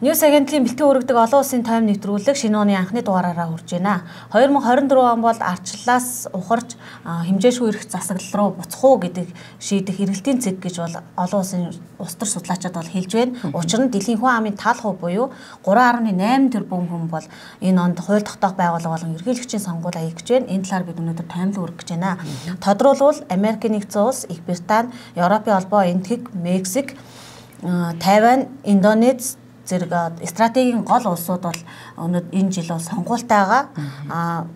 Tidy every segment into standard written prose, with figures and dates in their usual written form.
Ньюс агентлагийн бэлтгэн өргөдөг олон улсын тойм нэвтрүүлэг шинэ оны анхны дугаараараа хүрж байна. 2024 он бол ардчлалаас ухарч хэмжээшгүй эрх засаглал руу буцах уу гэдэг шийдэх эргэлтийн цэг гэж бол олон улсын улс төр судлаачид бол хэлж байна. Учир нь дэлхийн хүн амын тал хувь буюу 3.8 тэрбум хүн бол энэ онд хууль тогтоох байгууллага болон ерөнхийлөгчийн сонгуул аяг гэж байна. Энэ талаар бид өнөөдөр таймлаг өргөх гэж байна. Тодорхойлбол Америкийн нэгдсэн улс, Их Британи, Европын холбоо, Энэтхэг, Мексик, Тайвань, Индонез зэрэг стратегийн гол улсууд бол энэ жил бол сонгуультайгаа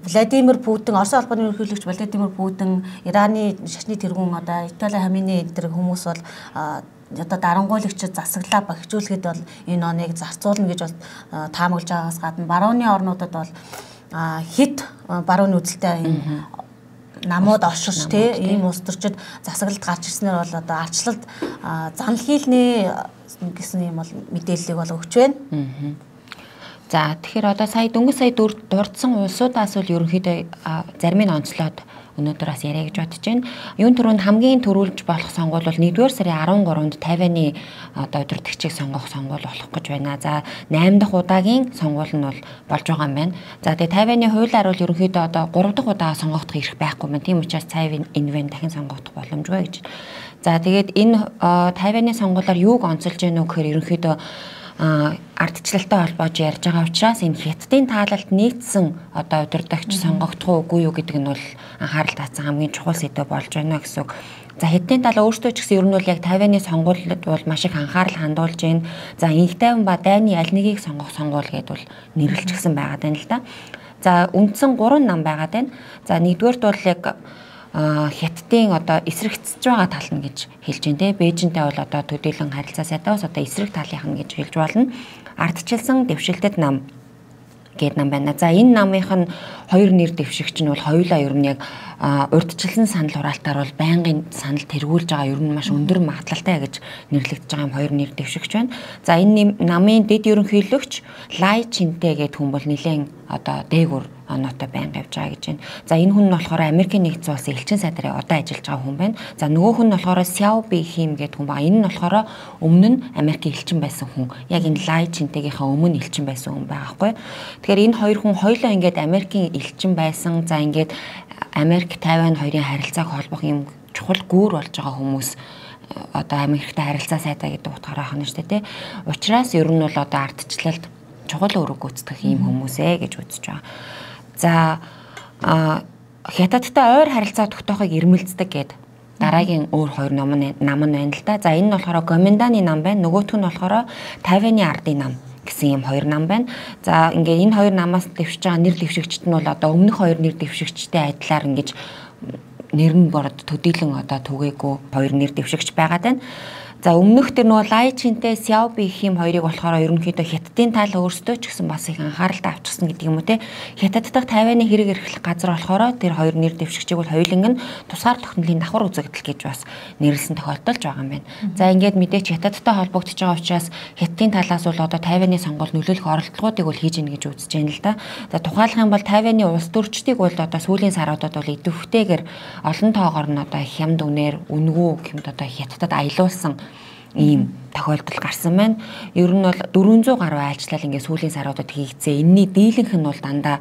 Владимир Путин, Оросын холбооны ерөнхийлөгч Владимир Путин, Ираны шашны тэргүүн одоо Итали Хамини энэ хүмүүс бол одоо дарангуйлагчид засаглаа багжуулахад бол энэ оныг зарцуулна гэж бол таамаглаж байгаагаас гадна барууны орнуудад бол хит барууны үзэлтэй намууд орширч ийм улс төрчид засаглалд гарч ирснээр бол одоо ардчлалд занл хийлнэ гэсэн юм бол мэдээллийг бол өгч байна. За тэгэхээр одоо дөнгөж сая дурдсан улсуудаас бол ерөнхийдөө зарим нь онцлоод өнөөдөр бас яриа гэж бодож байна. Юун түрүүнд хамгийн төрүүлж болох сонгуул бол 1-р сарын 13-нд Тайваны одоо удирдагчийг сонгох сонгуул болох гэж байна. За 8 дахь удаагийн сонгуул нь бол болж байгаа юм байна. За тэгээ Тайваны хуулиар бол ерөнхийдөө одоо 3 дахь удаа сонгогдох эрх байхгүй юм. Тийм учраас Цайвын энэ дахин сонгогдох боломжгүй гэж. За тэгээд энэ Тайваны сонгуулиар юуг онцолж байна вэ гэхээр ерөнхийдөө ардчлалтай холбоож ярьж байгаа учраас энэ хятадын таалалд нийцсэн одоо удирдагч сонгогдох уугүй юу гэдэг нь бол анхаарал татсан хамгийн чухал сэдв болж байна гэсэн үг. За хятадын талаа өөртөө ч гэсэн ер нь бол яг Тайваны сонгуулиуд бол маш их анхаарал хандуулж байна. За Инх тайван ба дайны аль нэгийг сонгох сонгуул гэдээ бол нэрлэлчихсэн байгаад байна л да. За үндсэн 3 нам байгаад байна. За нэгдүгээрт бол яг хятадын одоо эсрэгцэж байгаа тал нь гэж хэлж байна те. Бээжинтэй бол одоо төдийлөн харилцаа сайдаас одоо эсрэг талынх нь гэж хэлж болно. Ардчилсан дэвшилтэд нам гэдэг нам байна. За энэ намынх нь хоёр нэр дэвшигч нь бол хоёулаа ер нь яг урдчилсан санал хураалтаар бол байнгын санал тэргүүлж байгаа ер нь маш өндөр магадлалтай гэж нэрлэгдэж байгаа юм хоёр нэр дэвшигч байна. За энэ намын дэд ерөнхийлөгч Лай Чинтэй гэдэг хүн бол нэлээд одоо дээгүр оноотой байнга явж байгаа гэж байна. За энэ хүн нь болохоор Америкийн нэгдсэн улсын элчин сайдрын одоо ажиллаж байгаа хүн байна. За нөгөөх нь болохоор Сяо Бихим гэдэг хүн байна. Энэ нь болохоор өмнө нь Америкийн элчин байсан хүн. Яг энэ Лай Чинтэгийнхаа өмнө элчин байсан хүн байгаа байхгүй. Тэгэхээр энэ хоёр хүн хоёулаа ингээд Америкийн элчин байсан. За ингээд Америк Тайвань хоёрын харилцааг холбох юм чухал гүүр болж байгаа хүмүүс одоо Америктэй харилцаа сайдаа гэдэг утгаараа хана штэ тий. Учираас ер нь бол одоо ардчлалд чухал үүрэг гүйцэтгэх юм хүмүүсээ гэж үзэж байгаа. За хятадтай ойр харилцаа тогтоохыг ирмэлцдэг гэд дараагийн өөр хоёр нам нь байна л да. За энэ нь болохоор Гоминданы нам байна. Нөгөөх нь болохоор Тайваны ардын нам гэсэн юм хоёр нам байна. За ингээд энэ хоёр намаас дэвшиж байгаа нэр дэвшигчт нь бол одоо өмнөх хоёр нэр дэвшигчтэй адилаар ингэж нэр нь бород төдийлөн одоо түгээгүй хоёр нэр дэвшигч байгаад байна. За өмнөх тэр нөгөө Лай Чинтэй Сяо Бихим хоёрыг болохоор ерөнхийдөө хятадын тал өөрсдөө ч гэсэн бас их анхааралтай авчихсан гэдэг юм уу те. Хятад дахь Тайваны хэрэг эрхлэх газар болохоор тэр хоёр нэр дэвшигчийг бол хоёуланг нь тусгаар тогтнолын давхар үзэгдэл гэж бас нэрлсэн тохиолдолж байгаа юм байна. За ингээд мэдээч хятадтай холбогдож байгаа учраас хятадын талаас бол одоо Тайваны сонгуульд нөлөөлөх оролдлогоодыг бол хийж ийн гэж үзэж байна л да. За тухайлах юм бол Тайваны улс төрчдийг бол одоо сүүлийн саруудад бол идэвхтэйгээр олон тоогоор нь одоо хямд үнээр үнгүү гэмт одоо хятадад аялуулсан ийм тохиолдол гарсан байна. Ер нь бол 400 гаруй айлчлал ингээд сүүлийн саруудад хийгдсэн. Энэний дийлэнх нь бол дандаа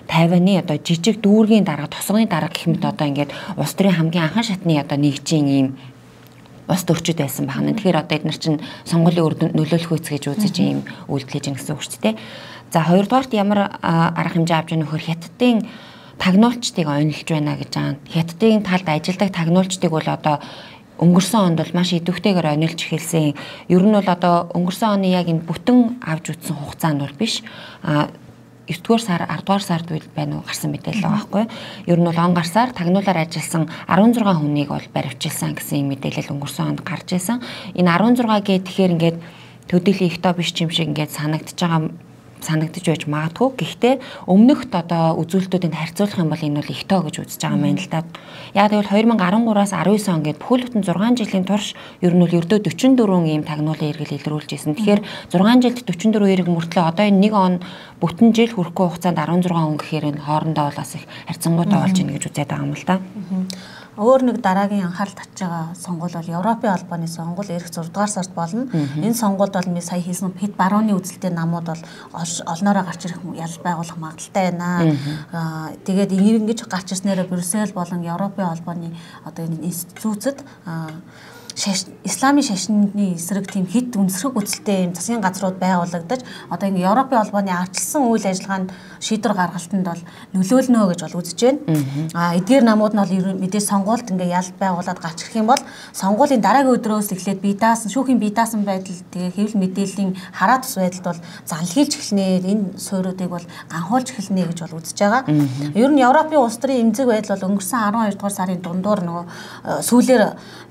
Тайваны одоо жижиг дүүргийн дарга, тосгоны дарга гэх мэт одоо ингээд улс төрийн хамгийн анхан шатны одоо нэгжийн ийм улс төрчид байсан байна. Тэгэхээр одоо эдгээр чинь сонгуулийн үр дүнд нөлөөлөх үс гэж үзэж ийм үйлдэл хийж гэнэ гэсэн үг шүү дээ. За хоёрдугаарт ямар арга хэмжээ авч яах нөхөр хятадын тагнуулчдыг онилж байна гэж байгаа. Хятадын талд ажилладаг тагнуулчдыг бол одоо өнгөрсөн онд бол маш идэвхтэйгээр онилж эхэлсэн. Ер нь бол одоо өнгөрсөн оны яг энэ бүтэн авч үзсэн хугацаанд бол биш. 9-р сар, 10-р сард байна уу гарсан мэдээлэл байгаа байхгүй. Ер нь бол он гарсаар тагнуулаар ажилласан 16 хүнийг бол баривчилсан гэсэн мэдээлэл өнгөрсөн онд гарч ирсэн. Энэ 16 гэхээр ингээд төдийлөн их тоо биш юм шиг ингээд санагдаж байж магадгүй. Гэхдээ өмнөхд одоо үзүүлэлтүүдэд харьцуулах юм бол энэ бол их тоо гэж үзэж байгаа юм байна л да. Яг тэгвэл 2013-аас 19 он гээд бүхэл бүтэн 6 жилийн турш ер нь бол ердөө 44 ийм тагнуулын эргэл илрүүлж ирсэн. Тэгэхээр 6 жилд 44 эрг мөртлөө одоо энэ 1 он бүтэн жил хүрэхгүй хугацаанд 16 он гэхээр энэ хоорондоо бол бас их харьцангуйтай болж ийн гэж үзээд байгаа юм л да. Өөр нэг дараагийн анхаарал татж байгаа сонгуул бол Европын албаны сонгуул ирэх 6 дугаар сард болно. Энэ сонгуульд бол сая хийсэн хэд барууны үзэлтэй намууд бол олноороо гарч ирэх ял байгуулах магадaltaй байна. Тэгээд ингэж гарч ирснээр Брюссел болон Европын албаны одоо энэ институтууд исламын шашны эсрэг тийм хэд үнсрэг үзэлтэй юм засгийн газрууд байгуулагдаж одоо ингэ Европын албаны арчилсан үйл ажиллагаанд шийдвэр гаргалтанд бол нөлөөлнө гэж бол үзэж байна. Эдгээр намууд нь бол мэдээж сонгуульд ингээ ял байгуулад гарч ирэх юм бол сонгуулийн дараагийн өдрөөс эхлээд шүүхийн бие даасан байдал тэгээ хэвлэл мэдээллийн хараа тус байдалд бол занлхийлж эхэлнэ. Энэ суурьуудыг бол ганхуулж эхэлнэ гэж бол үзэж байгаа. Ер нь Европын улс төрийн эмзэг байдал бол өнгөрсөн 12 дугаар сарын дундуур нөгөө сүүлээр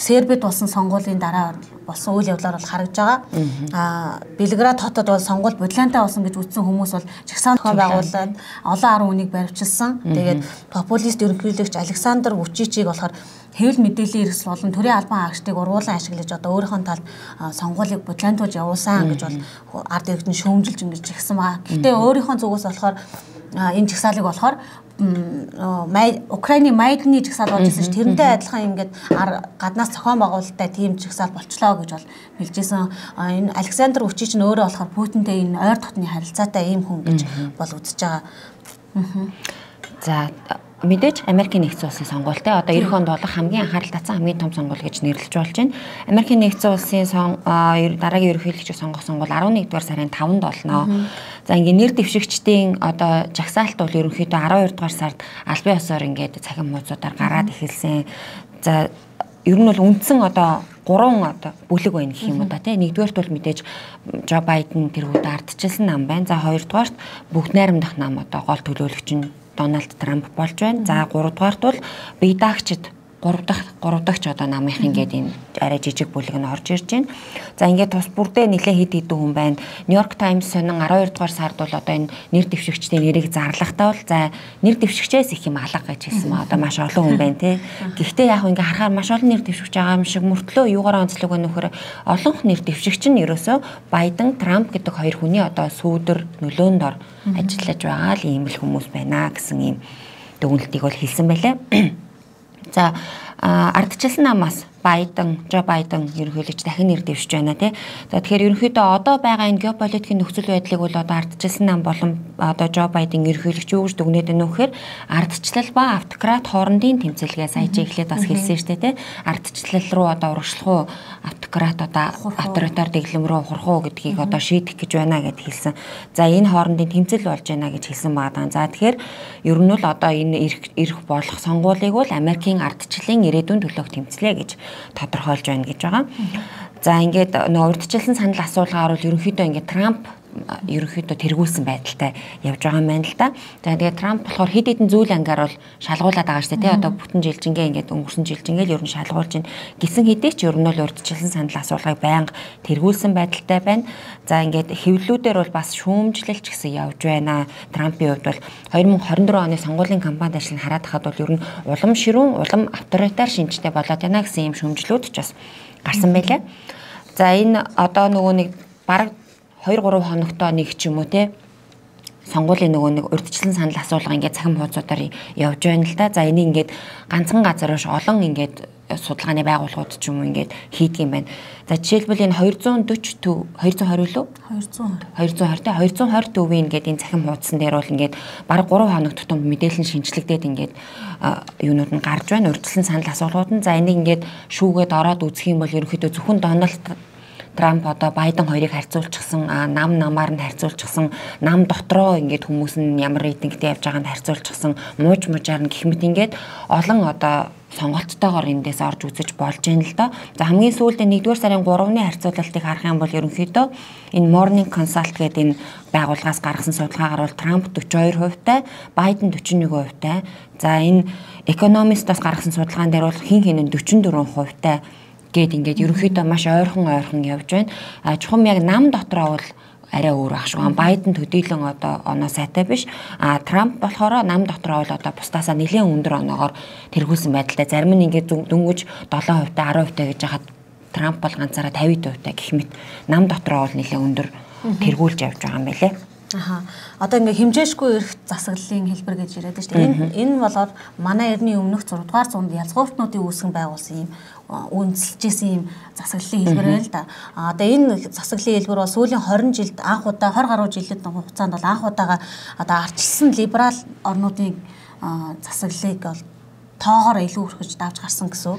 Сербид болсон сонгуулийн дараа болсон үйл явдлаар бол харагдж байгаа. Белград хотод бол сонгуул бодлонтой болсон гэж үзсэн хүмүүс бол жагсаан зохион байгуулад олон арга үнийг баривчилсан. Тэгээд популист ерөнхийлөгч Александр Вучичийг болохоор хэвлэл мэдээллийн эрсдэл болон төрийн албан хаагчдыг ургуулan ашиглаж одоо өөрийнхөө талд сонгуулийг бодлонтуулж явуулсан гэж бол ард иргэд нь шүүмжилж ингэж жигсэн байгаа. Гэхдээ өөрийнхөө зүгээс болохоор энэ жагсаалыг болохоор Украиний Майданы жагсаал болж ирсэн ш. Тэрнтэй адилхан ингээд гаднаас зохион байгуулалттай тийм жагсаал болчлоо гэж бол хэлжсэн. Энэ Александр Вучич нь өөрөө болохоор Путинтэй энэ ойр дотны харилцаатай ийм хүн гэж бол үзэж байгаа. За мэдээж Америкийн нэгдсэн улсын сонгуультай одоо эх онд болох хамгийн анхаарал татсан хамгийн том сонгуул гэж нэрлэж болж байна. Америкийн нэгдсэн улсын дараагийн ерөнхийлөгчийг сонгох сонгуул 11 дугаар сарын 5-нд болно. За ингээ нэр дэвшигчдийн одоо жагсаалт бол ерөнхийдөө 12 дугаар сард албан ёсоор ингээд цахим хуудасуудаар гараад эхэлсэн. За ер нь бол үндсэн одоо 3 одоо бүлэг байна гэх юм уу да тий. Нэгдүгээрт бол мэдээж Жо Байден тэр үед ардчилсан нам байна. За хоёрдугаарт бүгд найрамдах нам одоо гол төлөөлөгч нь Дональд Трамп болж байна. За 3 дугаарт бол бие даагчид 3 дахь одоо намынх ингээд энэ арай жижиг бүлэг нь орж ирж байна. За ингээд тус бүрдээ нэлээд хэд хэдэн хүн байна. Нью-Йорк Таймс сонин 12 дугаар сард бол одоо энэ нэр дэвшигчдийн нэрийг зарлахтаа бол за нэр дэвшигчээс их юм алга гэж хэлсэн ба одоо маш олон хүн байна тий. Гэхдээ яг ингээд харахаар маш олон нэр дэвшигч байгаа юм шиг мөртлөө юугаар онцлог вэ нөхөр олон нэр дэвшигч нь ерөөсөө Байден, Трамп гэдэг хоёр хүний одоо сүүдэр нөлөөнд ор ажиллаж байгаа л ийм л хүмүүс байна гэсэн ийм дүгнэлтийг бол хэлсэн байлаа. За ардчилсан намаас Жо Байден ерөнхийлөгч дахин нэр дэвшиж байна тий. За тэгэхээр ерөнхийдөө одоо байгаа энэ геополитикийн нөхцөл байдлыг бол одоо ардчилсан нам болон одоо Жо Байден ерөнхийлөгч юу гэж дүгнээд байна вэ гэхээр ардчлал ба автократ хоорондын тэмцэлгээ сая чи эхлээд бас хэлсэн шүү дээ тий. Ардчлал руу одоо урагшлах уу автократ одоо авторитар дэглэм рүү хурах уу гэдгийг одоо шийдэх гэж байна гэд хэлсэн. За энэ хоорондын тэмцэл болж байна гэж хэлсэн байгаа. За тэгэхээр ер нь бол одоо энэ ирэх болох сонгуулийг бол Америкийн ардчлалын ирээдүйн төлөөх тэмцлээ гэж тодорхойлж байна гэж байгаа. За ингээд нөгөө урьдчилсан санал асуулгаар бол ерөнхийдөө ингээд Трамп ерөнхийдөө тэргүүлсэн байдалтай явж байгаа юм байна л да. За тэгээд Трамп болохоор хэд хэдэн зүйл ангаар бол шалгуулад байгаа шүү дээ. Одоо бүтэн жилжингээ ингээд өнгөрсөн жилжингээл ер нь шалгуулж байна. Гисэн хэдий ч ер нь бол урьдчилсан санал асуулгыг байнга тэргүүлсэн байдалтай байна. За ингээд хэвлэлүүдээр бол бас шүүмжлэлч гэсэн явж байна. Трампын хувьд бол 2024 оны сонгуулийн кампанит ажлыг хараад хахад бол ер нь улам ширүүн, улам авторитар шинжтэй болоод байна гэсэн юм шүүмжлүүд ч бас гарсан байлаа. За энэ одоо нөгөө нэг бараг 2-3 хоногтоо нэг ч юм уу те сонгуулийн нөгөө нэг урьдчилан санал асуулга ингээд цахим хуудасуудаар явж байна л да. За энийг ингээд ганцхан газар биш олон ингээд судалгааны байгууллагууд ч юм уу ингээд хийдэг юм байна. За жишээлбэл энэ 240 төв 220 лөө 220 төвийн ингээд энэ цахим хуудсан дээр бол ингээд бараг 3 хоног тутам мэдээлэл нь шинжлэгдээд ингээд юунууд нь гарч байна. Урьдчилан санал асуулгууд нь за энийг ингээд шүүгээд ороод үзэх юм бол ерөнхийдөө зөвхөн Дональд Трамп одоо Байден хоёрыг харьцуулчихсан намаар нь харьцуулчихсан нам дотроо ингээд хүмүүс нь ямар рейтингтэй явж байгааг нь харьцуулчихсан мууж мужаар нь гэх мэт ингээд олон одоо сонголттойгоор эндээс орж үзэж болж байна л доо. За хамгийн сүүлдээ 1-р сарын 3-ны харьцуулалтыг харах юм бол ерөнхийдөө энэ Morning Consult гэдэг энэ байгууллагаас гаргасан судалгаагаар бол Трамп 42%-тай, Байден 41%-тай. За энэ Economist-аас гаргасан судалгаан дээр бол хин хин нь 44%-тай гээд ингээд ерөнхийдөө маш ойрхон явж байна. Чухам яг нам дотроо бол арай өөр ах шүү. Байден төдийлөн одоо оноо сайтай биш. Трамп болохоор нам дотроо бол одоо бусдаасаа нэлээд өндөр оноогоор тэргүүлсэн байдалтай. Зарим нь ингээд дөнгөж 7%-тай 10%-тай гэж хахад Трамп бол ганцаараа 50%-тай гэх мэт нам дотроо бол нэлээд өндөр тэргүүлж явж байгаа юм байлээ. Одоо ингээ хэмжээшгүй эрх засаглалын хэлбэр гэж яриад байна шүү дээ. Энэ болоод манай эртний өмнөх 6 дугаар зуунд язгууртнуудын үүсгэн байгуулсан юм үндэслэжсэн юм засаглалын хэлбэр байл л да. Одоо энэ засаглалын хэлбэр бол сүүлийн 20 жилд анх удаа 20 гаруй жилийн хугацаанд бол анх удаага одоо ардчилсан либерал орнуудын засаглалыг бол тоогоор илүү өрхөж давж гарсан гэсэн.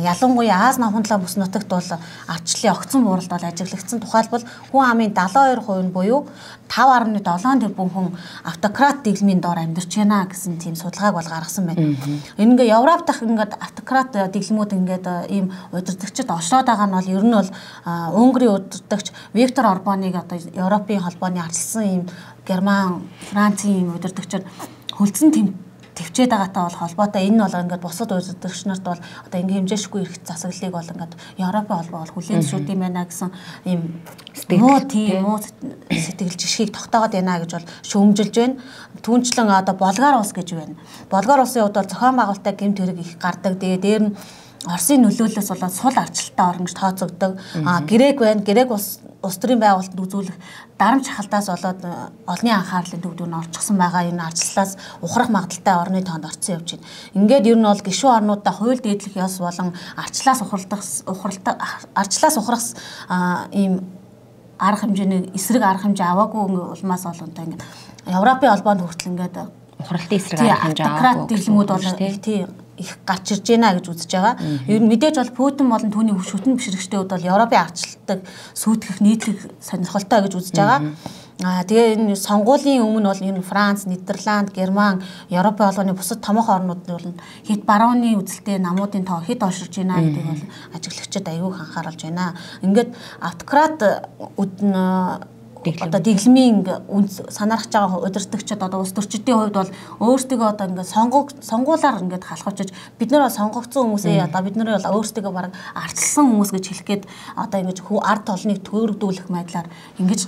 Ялангуяа Аз намхундлаа бүс нутагт бол ардчлалын огцон бууралд бол ажиглагдсан. Тухайлбал хүн амын 72% нь буюу 5.7 тэрбум хүн автократ дэглэмийн доор амьдарч байна гэсэн тийм судалгааг бол гаргасан байна. Энэ ингээ Европ дахь ингээд автократ дэглэмүүд ингээд ийм удирдагчид ошлоод байгаа нь бол ер нь бол Унгарын удирдагч Виктор Орбаныг одоо Европын холбооны ардчилсан ийм Герман, Францын ийм удирдагчид хөлдсөн төвчээд байгаатай бол холбоотой энэ бол ингээд бусад удирдагч нарт бол одоо ингээ хэмжээшгүй эрх засаглалыг бол ингээд Европын холбоо бол хүлээн зөвшөөрд юм байна гэсэн ийм муу сэтгэл жишгийг тогтоогод байна гэж бол шүүмжилж байна. Түүнчлэн одоо Болгар улс гэж байна. Болгар улсын хувьд бол зохион байгуулалттай гэмт хэрэг их гардаг. Тэгээ дээр нь Оросын нөлөөллөөс болоод сул ардчилалтай орн гэж тооцогддог. Грек байна. Грек улс төрийн байгуулалтанд үзүүлэх дарамт шахалтаас болоод олонний анхаарлын төвд нь орчихсон байгаа. Энэ ардчилалаас ухрах магадaltaй орны тоонд орцсон явж байна. Ингээд ер нь бол гишүүн орнуудаа хууль дээдлэх ёс болон ардчилалаас ухрах ийм арга хэмжээний эсрэг арга хэмжээ аваагүй улмаас болонтой ингээд Европын холбоонд хүртэл ингээд ухралтын эсрэг арга хэмжээ аваагүй дэглэмүүд бол их гарч ирж байна гэж үзэж байгаа. Ер нь мэдээж бол Путин болон түүний шүтэн бишрэгчдийн хувьд бол Европын ардчилалтыг сүйтгэх нийтлэг сонирхолтой гэж үзэж байгаа. Тэгээ энэ сонгуулийн өмнө бол энэ Франц, Нидерланд, Герман, Европын холбооны бусад томоохон орнууд нь бол хэд барууны үзэлтэй намуудын тоо хэд орширж байна гэдэг бол ажиглагчид аягүй анхааруулж байна. Ингээд автократ одоо дэглэмийн санаарч байгаа удирдагчид одоо улс төрчдийн хувьд бол өөрсдөө одоо ингээд сонгуулаар ингээд халахвчиж бид нар сонгогдсон хүмүүсээ одоо бид нар бол өөрсдөө бараг ардчилсан хүмүүс гэж хэлэх гээд одоо ингээд ард толныг төөрөгдүүлэх байдлаар ингээд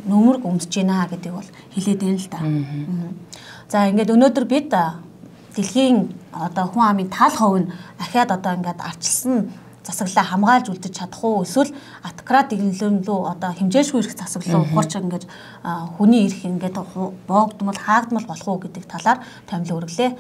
нөмөрг өмдөж байна гэдэг бол хэлээд байна л да. За ингээд өнөөдөр бид дэлхийн одоо хүн амын тал хувь нь ахаад одоо ингээд ардчилсан засаглалаа хамгаалж үлдэж чадах уу эсвэл автократ дэглэм лөө одоо хэмжээшгүй эрх засаглал ухарч ингээд хүний эрх ингээд боогдмол хаагдмал болох уу гэдэг талаар томилоо өргөлээ.